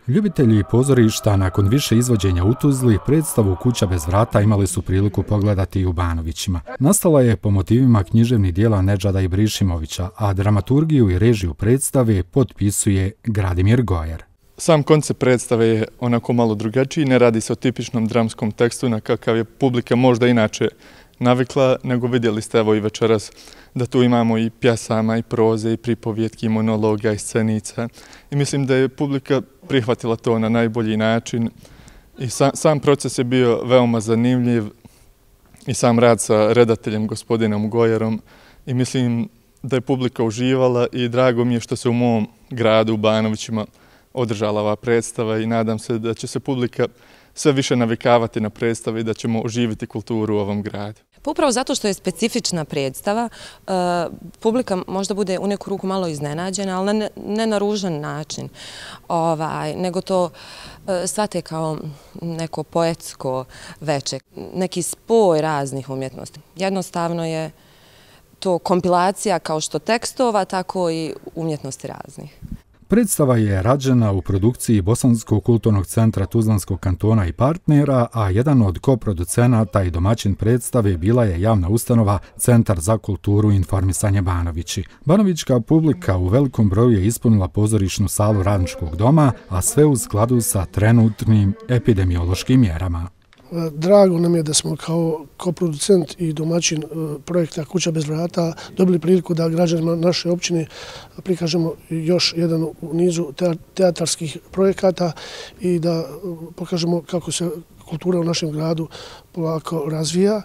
Ljubitelji pozorišta nakon više izvođenja u Tuzli predstavu Kuća bez vrata imali su priliku pogledati i u Banovićima. Nastala je po motivima književnih dijela Nedžada Ibrišimovića, a dramaturgiju i režiju predstave potpisuje Gradimir Gojer. Sam koncept predstave je onako malo drugačiji, ne radi se o tipičnom dramskom tekstu na kakav je publika možda inače navikla, nego vidjeli ste evo i večeras da tu imamo i pjesama, i proze, i pripovjetki, i monologa, i scenica. I mislim da je publika prihvatila to na najbolji način. I sam proces je bio veoma zanimljiv i sam rad sa redateljem gospodinom Gojerom. I mislim da je publika uživala i drago mi je što se u mom gradu, u Banovićima, održala ova predstava i nadam se da će se publika sve više navikavati na predstave i da ćemo oživiti kulturu u ovom gradu. Pa upravo zato što je specifična predstava, publika možda bude u neku ruku malo iznenađena, ali ne na ružan način, nego to shvate kao neko poetsko veče, neki spoj raznih umjetnosti. Jednostavno je to kompilacija kao što tekstova, tako i umjetnosti raznih. Predstava je rađena u produkciji Bosanskog kulturnog centra Tuzlanskog kantona i partnera, a jedan od koproducenata i domaćin predstave bila je javna ustanova Centar za kulturu i informisanje Banovići. Banovićka publika u velikom broju je ispunila pozorišnu salu Radničkog doma, a sve u skladu sa trenutnim epidemiološkim mjerama. Drago nam je da smo kao koproducent i domaćin projekta Kuća bez vrata dobili priliku da građanima naše općine prikažemo još jedan u nizu teatarskih projekata i da pokažemo kako se kultura u našem gradu polako razvija.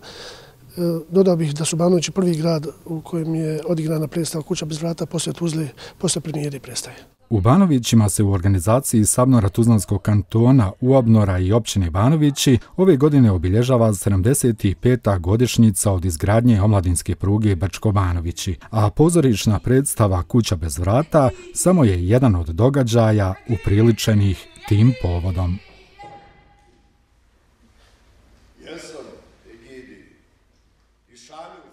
Dodao bih da su Banovići prvi grad u kojem je odigrana predstava Kuća bez vrata poslije Tuzle, poslije premijere predstave. U Banovićima se u organizaciji Sabnora Tuzlanskog kantona, Uabnora i općine Banovići ove godine obilježava 75. godišnjica od izgradnje omladinske pruge Brčko-Banovići, a pozorišna predstava Kuća bez vrata samo je jedan od događaja upriličenih tim povodom. Jesam, Egidi, i šalju